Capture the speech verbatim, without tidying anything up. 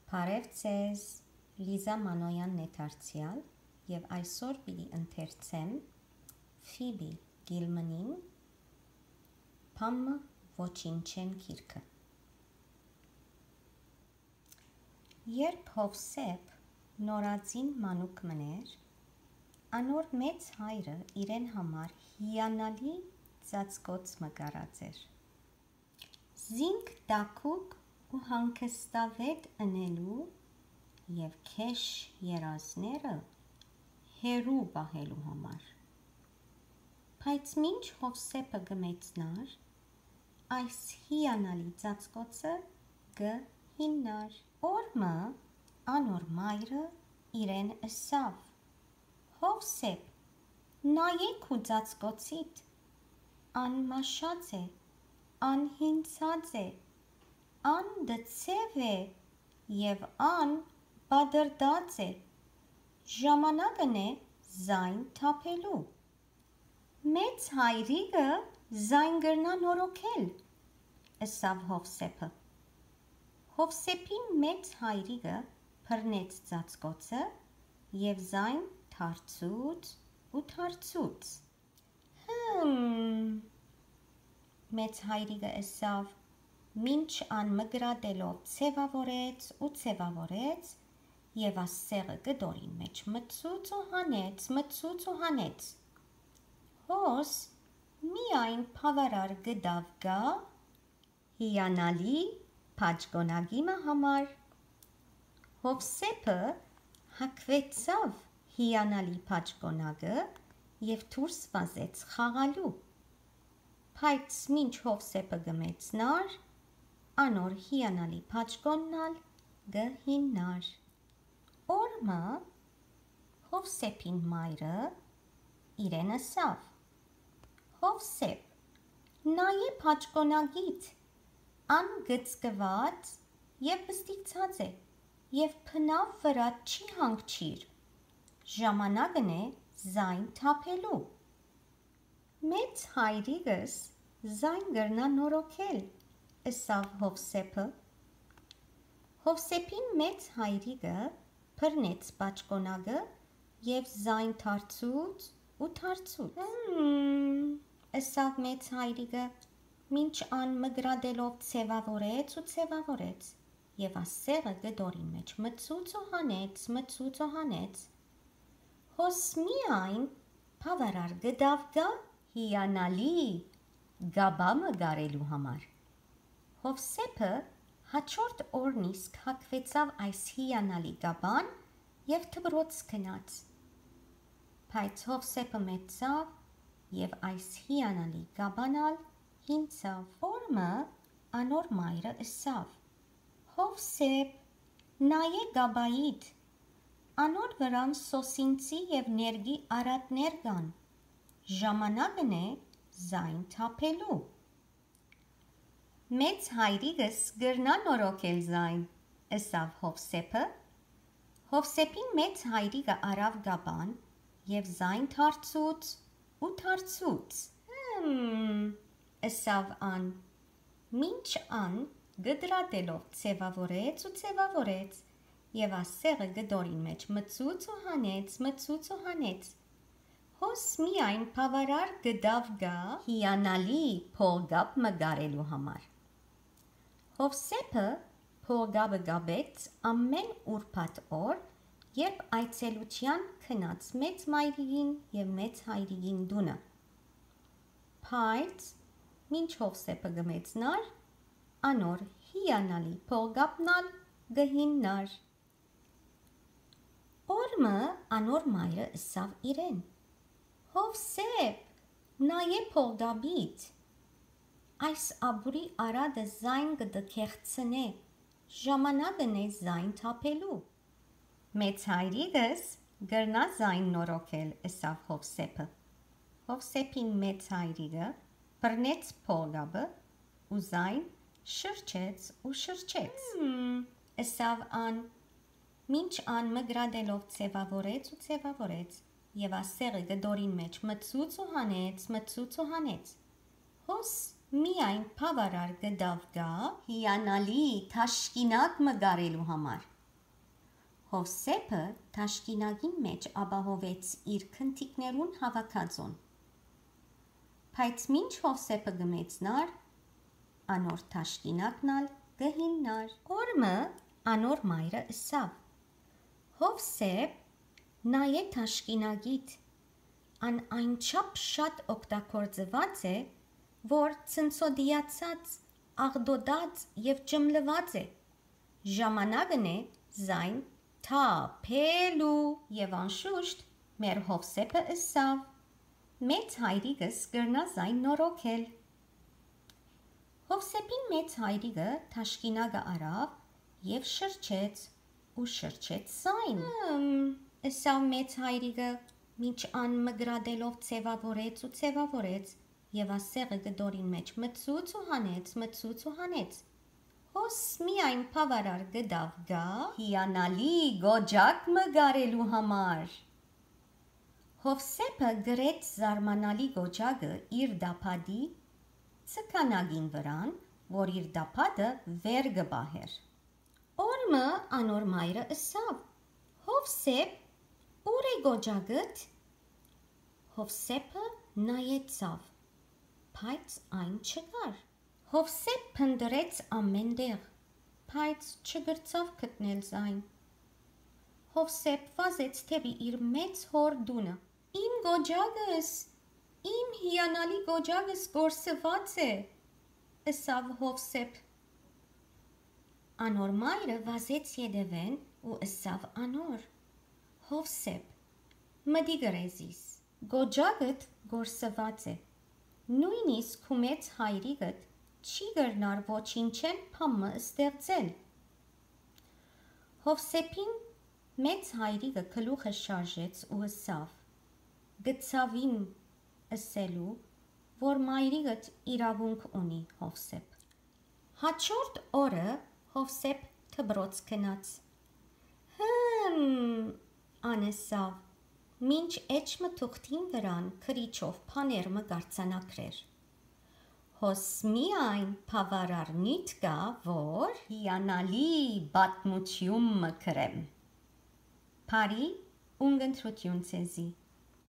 Բարև ձեզ, Լիզա Մանոյանն է դարձեալ, եւ այսօր պիտի ընթերցեմ Ֆիբի Գիլմանի «Բան մը ոչինչ չեն» գիրքը։ Երբ Յովսէփ նորածին մանուկ մըն էր, անոր մեծ հայրը իրեն համար հիանալի ծածկոց մը կարած էր։ Զինք տաքուկ ու հանգստաւետ ընելու եւ քեշ երազները հեռու պահելու համար։ Բայց մինչ Յովսէփը կը մեծնար, այս հիանալի ծածկոցը կը հիմնար։ Օր մը անոր մայրը իրեն ըսաւ. «Յովսէփ, նայէ քու ծածկոցիդ, ան մաշած է, ան հինցած է, ան դցեւ է եւ ան պատրտած է, ժամանակն է զայն թափելու»։ «Մեծ հայրիկը զայն կրնայ նորոգել», ըսաւ Յովսէփը։ Յովսէփին մեծ հայրիկը բռնեց ծածկոցը եւ զայն դարձուց ու դարձուց։ «Հմ», մեծ հայրիկը ըսաւ, մինչ ան մկրատելով ձեւաւորեց ու ձեւաւորեց, եւ ասեղը կտորին մէջ մցուց ու հանեց, մցուց ու հանեց։ Հոս միայն բաւարար կտաւ կայ հիանալի բաճկոնակի մը համար։ Յովսէփը հագուեցաւ հիանալի բաճկոնակը եւ դուրս վազեց խաղալու։ Բայց մինչ Յովսէփը կը մեծնար, անոր հիանալի բաճկոնն ալ կը հիմնար։ Օր մը Յովսէփին մայրը իրեն ըսաւ. «Յովսէփ, նայէ բաճկոնակիդ, ան կծկուած եւ պստիկցած է եւ բնաւ վրայ չի հանգչիր, ժամանակն է զայն թափելու»։ «Մեծ հայրիկս զայն կրնայ նորոգել», ըսաւ Յովսէփը։ Յովսէփին մեծ հայրիկը բռնեց բաճկոնակը եւ զայն դարձուց ու դարձուց։ «Հմ», ըսաւ մեծ հայրիկը, մինչ ան մկրատելով ձեւաւորեց ու ձեւաւորեց, եւ ասեղը կտորին մէջ մցուց ու հանեց, մցուց ու հանեց։ «Հոս միայն բաւարար կտաւ կայ հիանալի կապա մը կարելու համար»։ Յովսէփը հաջորդ օրն իսկ հագուեցաւ այս հիանալի կապան եւ դպրոց գնաց։ Բայց Յովսէփը մեծցաւ եւ այս հիանալի կապան ալ հինցաւ։ Օր մը անոր մայրը ըսաւ. «Յովսէփ, նայէ կապայիդ, անոր վրան սոսինցի եւ ներկի արատներ կան, ժամանակն է զայն թափելու»։ «Մեծ հայրիկս կրնայ նորոգել զայն», ըսաւ Յովսէփը։ Յովսէփին մեծ հայրիկը առաւ կապան եւ զայն դարձուց ու դարձուց։ «Հմ», ըսաւ ան, մինչ ան կտրատելով ձեւաւորեց ու ձեւաւորեց, եւ ասեղը կտորին մէջ մցուց ու հանեց, մցուց ու հանեց։ «Հոս միայն բաւարար կտաւ կայ հիանալի փողկապ մը կարելու համար»։ Յովսէփը փողկապը կապեց ամէն ուրբաթ օր, երբ այցելութեան գնաց մեծ մայրիկին եւ մեծ հայրիկին տունը։ Բայց մինչ Յովսէփը կը մեծնար, անոր հիանալի փողկապն ալ կը հիմնար։ Օր մը անոր մայրը ըսաւ իրեն. «Յովսէփ, նայէ փողկապիդ, այս ապուրի արատը զայն կը տքեղցնէ, ժամանակն է զայն թափելու»։ «Մեծ հայրիկս կրնայ զայն նորոգել», ըսաւ Յովսէփը։ Յովսէփին մեծ հայրիկը բռնեց փողկապը ու զայն շրջեց ու շրջեց։ «Հմ», ըսաւ ան, մինչ ան մկրատելով ձեւաւորեց ու ձեւաւորեց, եւ ասեղը կտորին մէջ մցուց ու հանեց, մցուց ու հանեց։ «Հոս միայն բաւարար կտաւ կայ հիանալի թաշկինակ մը կարելու համար»։ Հովսէփը թաշկինակին մէջ ապահովեց իր քնտիկներուն հաւաքածոն։ Բայց մինչ Հովսէփը կը մեծնար, անոր թաշկինակն ալ կը հիմնար։ Օր մը անոր մայրը ըսաւ. «Հովսէփ, նայէ թաշկինակիդ, ան այնչափ շատ օգտագործուած է, որ ցնցոտիացած, աղտոտած եւ ճմլուած է։ Ժամանակն է զայն թափելու»։ Եւ անշուշտ մեր Հովսէփը ըսաւ. «Մեծ հայրիկս կրնայ զայն նորոգել»։ Հովսէփին մեծ հայրիկը թաշկինակը առաւ եւ շրջեց ու շրջեց զայն։ «Հմ», ըսաւ մեծ հայրիկը, մինչ ան մկրատելով ձեւաւորեց ու ձեւաւորեց, եւ ասեղը կտորին մէջ մցուց ու հանեց, մցուց ու հանեց։ Հոս միայն բաւարար կտաւ կա։ Հիանալի կոճակ մը կարելու համար։ Հովսէփը գրեց զարմանալի կոճակը իր դապատի ցկանակին վրան, որ իր դապատը վեր կը պահէր։ Օր մը անոր մայրը ըսաւ. «Հովսէփ, ո՞ւր է կոճակդ»։ Հովսէփը նայեցաւ, բայց այն չկար։ Հովսէփ փնտռեց ամէն տեղ, բայց չկրցաւ գտնել զայն։ Հովսէփ վազեց դէպի իր մեծ հօր տունը։ «Իմ կոճակս, իմ հիանալի կոճակս կորսուած է», ըսաւ Հովսէփ։ Անոր մայրը վազեց ետեւէն ու ըսաւ անոր. «Հովսէփ, մտի կրեզիս, կոճակդ կորսուած է։ Նոյնիսկ քու մեծ հայրիկդ չի կրնար ոչինչէն բան մը ստեղծել»։ Հովսէփին մեծ հայրիկը գլուխը շարժեց ու ըսավ. «Գցաւ իմ ըսելու, որ մայրիկդ իրաւունք ունի, Հովսէփ»։ Հաջորդ օրը Հովսէփ դպրոց գնաց։ «Հմ», ան ըսաւ, մինչ էջ մը թուղթին վրան գրիչով բաներ մը կարձանագրեր։ «Հոս միայն բաւարար նիւթ կայ, որ հիանալի պատմութիւն մը գրեմ։ Բարի ունկնդրութիւն ձեզի»։